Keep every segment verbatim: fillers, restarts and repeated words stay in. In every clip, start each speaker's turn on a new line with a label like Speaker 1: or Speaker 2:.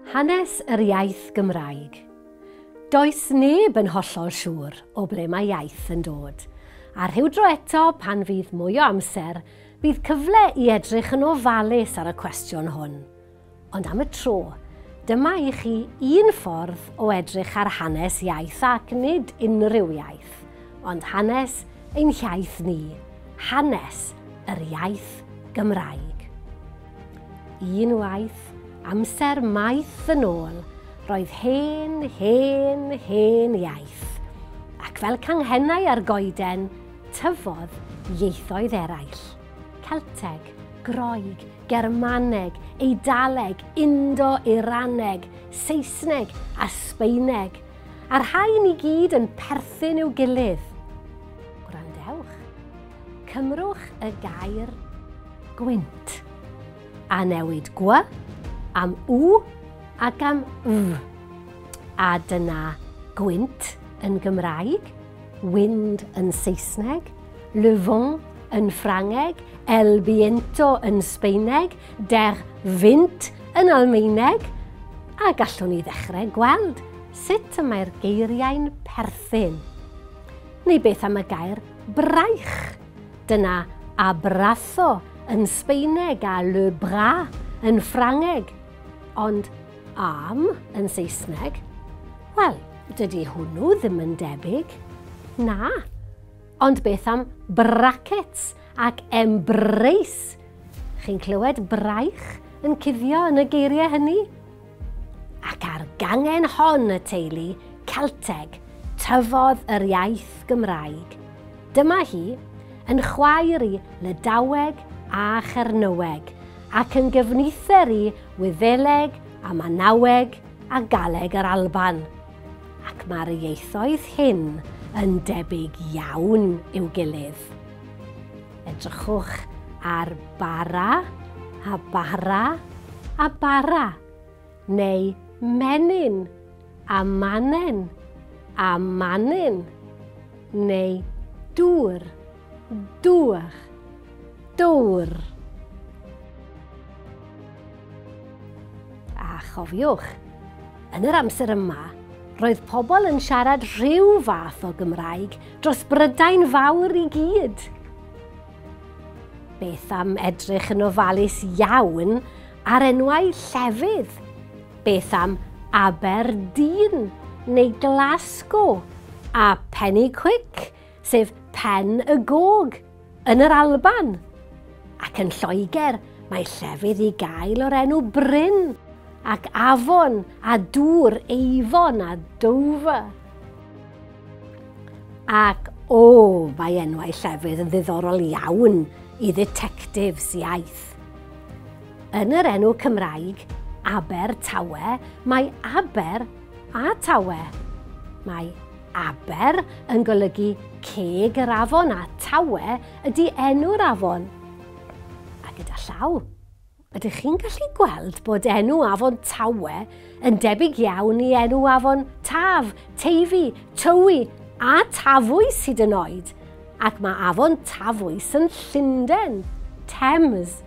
Speaker 1: Hanes yr iaith Gymraeg. Does neb yn hollol siŵr o ble mae iaith yn dod. A rhyw dro eto, pan fydd mwy o amser, bydd cyfle i edrych yn ofalus ar y cwestiwn hwn. Ond am y tro, dyma i chi un ffordd o edrych ar hanes iaith ac nid unrhyw iaith, ond hanes ein hiaith ni, hanes yr iaith Gymraeg. Unwaith, amser maith yn ôl, roedd hen, hen, hen iaith. Ac fel canghennau ar goeden, tyfodd ieithoedd eraill. Celteg, Groeg, Germaneg, Eidaleg, Indo-Iraneg, Saesneg a Sbaeneg, a'r rhain i gyd yn perthyn i'w gilydd. Gwrandewch, cymrwch y gair gwynt, a newid gwy am w ac am f. A dyna gwynt yn Gymraeg, wind yn Saesneg, le vent yn Ffrangeg, el viento yn Sbaeneg, der Wind yn Almaeneg, a gallwn ni ddechrau gweld sut y mae'r geiriau'n perthyn. Neu beth am y gair braich? Dyna abrazo yn Sbaeneg a le bras yn Ffrangeg, ond arm yn Saesneg, wel, dydy hwnnw ddim yn debyg. Na. Ond beth am brackets ac embrace? Chi'n clywed braich yn cuddio yn y geiriau hynny? Ac ar gangen hon y teulu, Celteg, tyfodd yr iaith Gymraeg. Dyma hi yn chwaer i Lydaweg a Chernyweg, ac yn gyfnither i Wyddeleg a Manaweg a Galeg yr Alban. Ac mae'r ieithoedd hyn yn debyg iawn i'w gilydd. Edrychwch ar bara a bara a bara, neu menyn a manen a manyn, neu dŵr, dŵr, dŵr. A chofiwch, yn yr amser yma, roedd pobl yn siarad rhyw fath o Gymraeg dros Brydain fawr i gyd. Beth am edrych yn ofalus iawn ar enwau llefydd? Beth am Aberdeen neu Glasgow a Penicuik, sef Pen y Gog, yn yr Alban? Ac yn Lloegr, mae llefydd i gael o'r enw Bryn, ac afon a dŵr Avon a Dover. Ac o, mae enwau llefydd yn ddiddorol iawn i ddetectives iaith. Yn yr enw Cymraeg, Abertawe, mae Aber a Tawe. Mae Aber yn golygu ceg yr afon a Tawe ydy enw'r afon. A gyda llaw, ydych chi'n gallu gweld bod enw afon Tawe yn debyg iawn i enw afon Taf, Teifi, Tywi a Tafwys hyd yn oed? Ac mae afon Tafwys yn Llundain, Thames.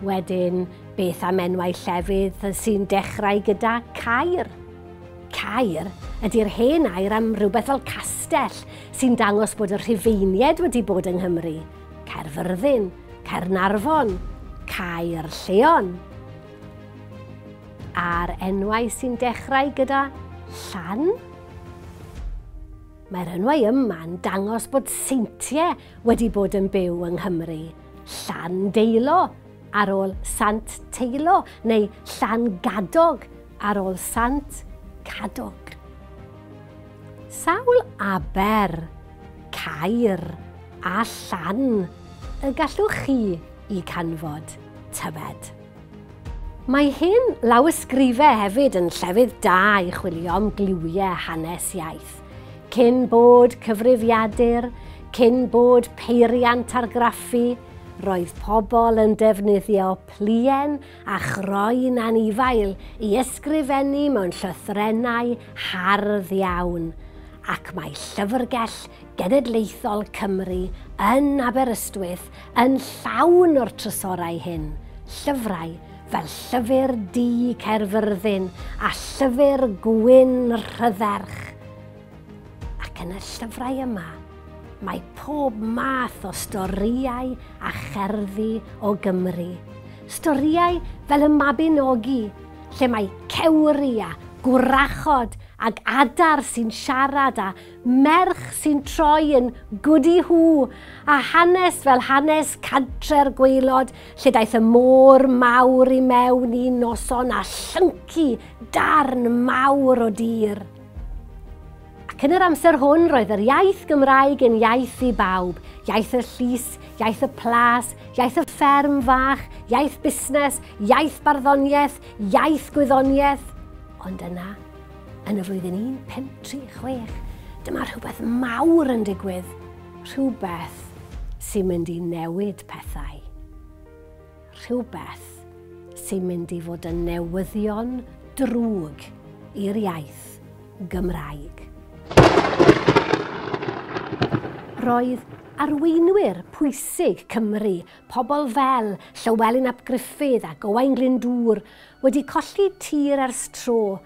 Speaker 1: Wedyn, beth am enwau llefydd sy'n dechrau gyda caer? Caer ydy'r hen air am rhywbeth fel castell sy'n dangos bod y Rhufeiniaid wedi bod yng Nghymru. Caerfyrddin, Caernarfon, Caerlleon. A'r enwau sy'n dechrau gyda llan? Mae'r enwau yma'n dangos bod seintiau wedi bod yn byw yng Nghymru. Llandeilo ar ôl Sant Teilo, neu Llangadog ar ôl Sant Cadog. Sawl aber, caer a llan y gallwch chi i canfod, tybed? Mae hyn lawysgrifau hefyd yn llefydd da i chwilio am gliwiau hanes iaith. Cyn bod cyfrifiadur, cyn bod peiriant argraffu, roedd pobl yn defnyddio pluen a chroen anifail i ysgrifennu mewn llythrennau hardd iawn. Ac mae Llyfrgell Genedlaethol Cymru yn Aberystwyth yn llawn o'r trysorau hyn, llyfrau fel Llyfr Du Caerfyrddin a Llyfr Gwyn Rhydderch. Ac yn y llyfrau yma, mae pob math o storïau a cherddi o Gymru. Storïau fel y Mabinogi, lle mae cewri a gwrachod ac adar sy'n siarad a merch sy'n troi yn Gwdihŵ a hanes fel hanes Cantre'r Gwaelod lle daeth y môr mawr i mewn i noson a llyncu darn mawr o dir. Ac yn yr amser hwn roedd yr iaith Gymraeg yn iaith i bawb. Iaith y llys, iaith y plas, iaith y fferm fach, iaith busnes, iaith barddoniaeth, iaith gwyddoniaeth. Ond yna, yn y flwyddyn un pump tri chwech, dyma rhywbeth mawr yn digwydd. Rhywbeth sy'n mynd i newid pethau. Rhywbeth sy'n mynd i fod yn newyddion drwg i'r iaith Gymraeg. Roedd arweinwyr pwysig Cymru, pobl fel Llywelyn ap Gruffydd ac Owain Glyndŵr, wedi colli tir ers tro,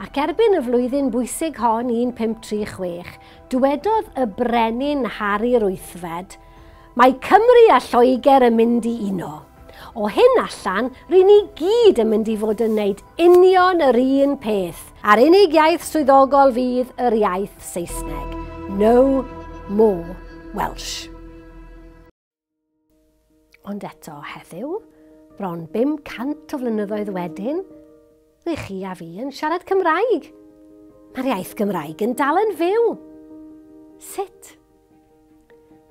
Speaker 1: ac erbyn y flwyddyn bwysig hon un pump tri chwech, dywedodd y brenin Harri'r Wythfed, mae Cymru a Lloegr yn mynd i uno. O hyn allan, ry'n ni gyd yn mynd i fod yn wneud union yr un peth, a'r unig iaith swyddogol fydd yr iaith Saesneg. No more Welsh. Ond eto heddiw, bron bum cant o flynyddoedd wedyn, rych chi a fi yn siarad Cymraeg. Mae'r iaith Gymraeg yn dal yn fyw. Sut?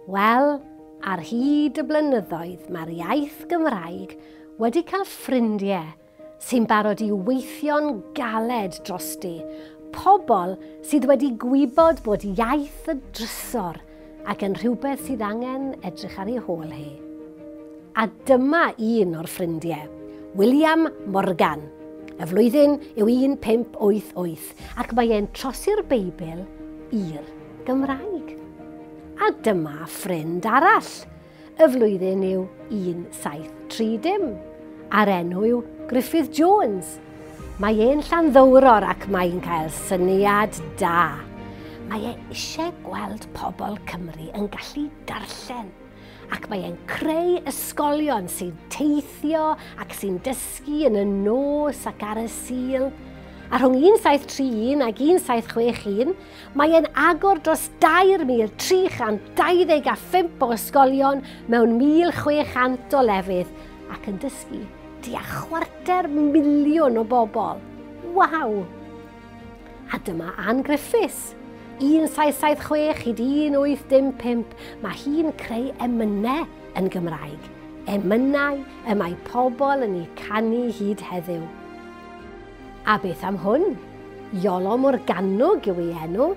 Speaker 1: Wel, ar hyd y blynyddoedd, mae'r iaith Gymraeg wedi cael ffrindiau sy'n barod i weithio'n galed drosti. Pobl sydd wedi gwybod bod iaith y drysor ac yn rhywbeth sydd angen edrych ar ei hôl hi. A dyma un o'r ffrindiau, William Morgan. Y flwyddyn yw un pump wyth wyth ac mae e'n trosi'r Beibl i'r Gymraeg. A dyma ffrind arall. Y flwyddyn yw un saith tri dim a'r enw yw Griffith Jones. Mae e'n Llanddowror ac mae'n cael syniad da. Mae e eisiau gweld pobl Cymru yn gallu darllen ac mae e'n creu ysgolion sy'n teithio ac sy'n dysgu yn y nos ac ar y Sul. A rhwng un saith tri un ac un saith chwech un, mae e'n agor dros dair mil tri chant dau ddeg a phump o ysgolion mewn mil chwe chant o lefydd ac yn dysgu tua chwarter miliwn o bobl. Waw! A dyma Ann Griffiths. un saith saith chwech hyd un wyth dim pump, mae hi'n creu emynau yn Gymraeg. Emynau y mae pobl yn eu canu hyd heddiw. A beth am hwn? Iolo Morgannwg yw ei enw.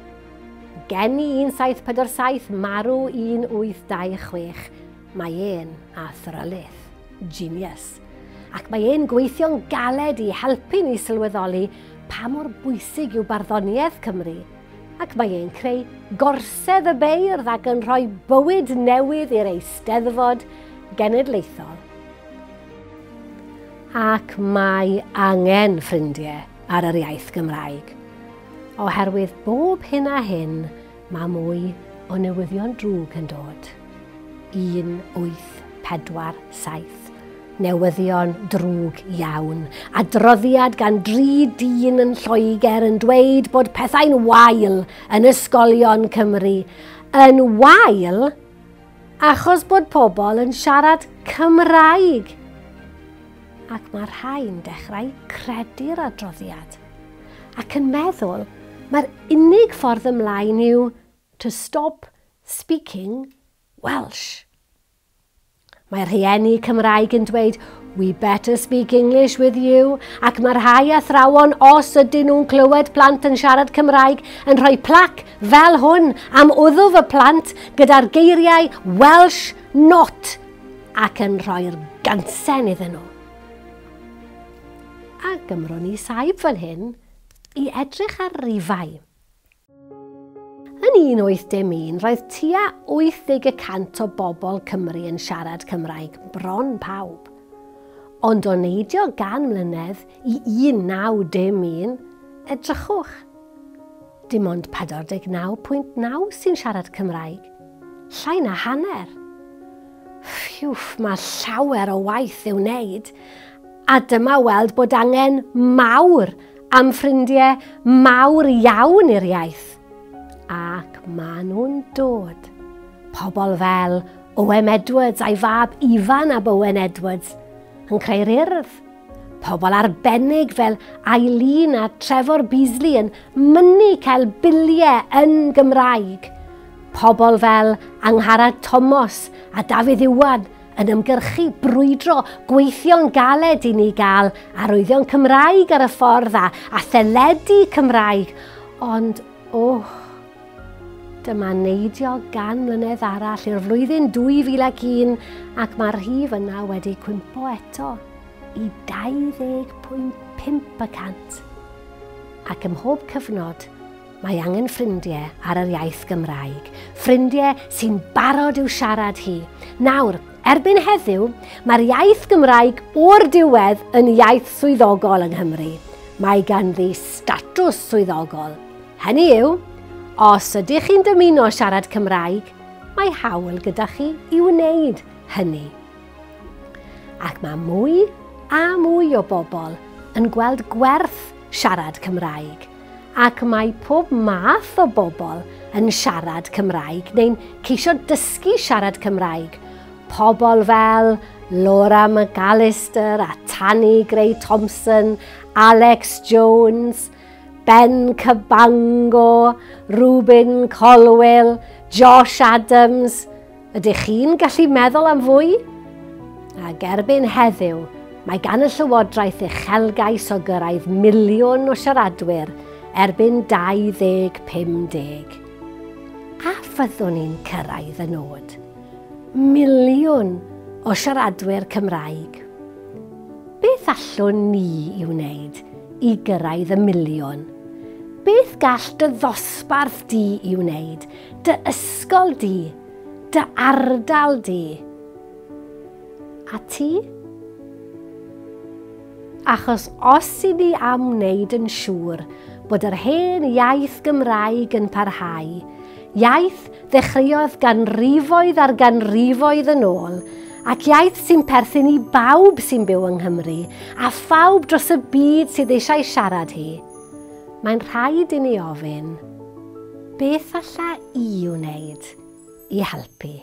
Speaker 1: Geni un saith pedwar saith, marw un wyth dau chwech. Mae e'n athrylith. Genius. Ac mae e'n gweithio'n galed i helpu ni sylweddoli pa mor bwysig yw barddoniaeth Cymru. Ac mae e'n creu gorsedd y beirdd ac yn rhoi bywyd newydd i'r Eisteddfod Genedlaethol. Ac mae angen ffrindiau ar yr iaith Gymraeg. Oherwydd bob hyn a hyn, mae mwy o newyddion drwg yn dod. un wyth pedwar saith. Newyddion drwg iawn. Adroddiad gan dri dyn yn Lloegr yn dweud bod pethau'n wael yn ysgolion Cymru. Yn wael achos bod pobl yn siarad Cymraeg. Ac mae rhai'n dechrau credu'r adroddiad. Ac yn meddwl, mae'r unig ffordd ymlaen yw to stop speaking Welsh. Mae rhieni Cymraeg yn dweud, we better speak English with you, ac mae rhai athrawon, os ydyn nhw'n clywed plant yn siarad Cymraeg, yn rhoi plac fel hwn am wddf y plant gyda'r geiriau Welsh not ac yn rhoi'r gansen iddyn nhw. A gymron ni saib fel hyn i edrych ar rifau. Yn un wyth dim un, roedd tua wyth deg y cant o bobl Cymru yn siarad Cymraeg, bron pawb. Ond o neidio gan mlynedd i un naw dim un, edrychwch. Dim ond pedwar deg naw pwynt naw sy'n siarad Cymraeg. Llai na hanner. Ffiwff, mae llawer o waith i'w wneud. A dyma weld bod angen mawr am ffrindiau mawr iawn i'r iaith. Ac maen nhw'n dod. Pobl fel O M Edwards a'i fab Ifan ab Owen Edwards yn creu'r Urdd. Pobl arbennig fel Eileen a Trevor Beasley yn mynnu cael biliau yn Gymraeg. Pobl fel Angharad Tomos a Dafydd Iwan yn ymgyrchu, brwydro, gweithio'n galed i ni gael arwyddion Cymraeg ar y ffordd a, a theledu Cymraeg. Ond, oh, dyma neidio gan mlynedd arall i'r flwyddyn dwy fil ac un ac mae'r rhif yna wedi cwympo eto i dau ddeg pwynt pump y cant. Ac ym mhob cyfnod, mae angen ffrindiau ar yr iaith Gymraeg. Ffrindiau sy'n barod i'w siarad hi. Nawr, erbyn heddiw, mae'r iaith Gymraeg o'r diwedd yn iaith swyddogol yng Nghymru. Mae ganddi statws swyddogol. Hynny yw, os ydych chi'n dymuno siarad Cymraeg, mae hawl gyda chi i wneud hynny. Ac mae mwy a mwy o bobl yn gweld gwerth siarad Cymraeg. Ac mae pob math o bobl yn siarad Cymraeg neu'n ceisio dysgu siarad Cymraeg. Pobl fel Laura McAllister a Tanni Grey Thompson, Alex Jones, Ben Cabango, Rubin Colwill, Josh Adams. Ydych chi'n gallu meddwl am fwy? Ac erbyn heddiw, mae gan y Llywodraeth uchelgais o gyrraedd miliwn o siaradwyr erbyn dau ddeg pum deg. A fyddwn ni'n cyrraedd y nod? Miliwn o siaradwyr Cymraeg. Beth allwn ni i wneud i gyrraedd y miliwn? Beth gall dy ddosbarth di i wneud, dy ysgol di, dy ardal di? A ti? Achos os i ni am wneud yn siŵr bod yr hen iaith Gymraeg yn parhau, iaith ddechreuodd ganrifoedd ar ganrifoedd yn ôl, ac iaith sy'n perthyn i bawb sy'n byw yng Nghymru, a phawb dros y byd sydd eisiau siarad hi, mae'n rhaid i ni ofyn, beth alla i wneud i helpu?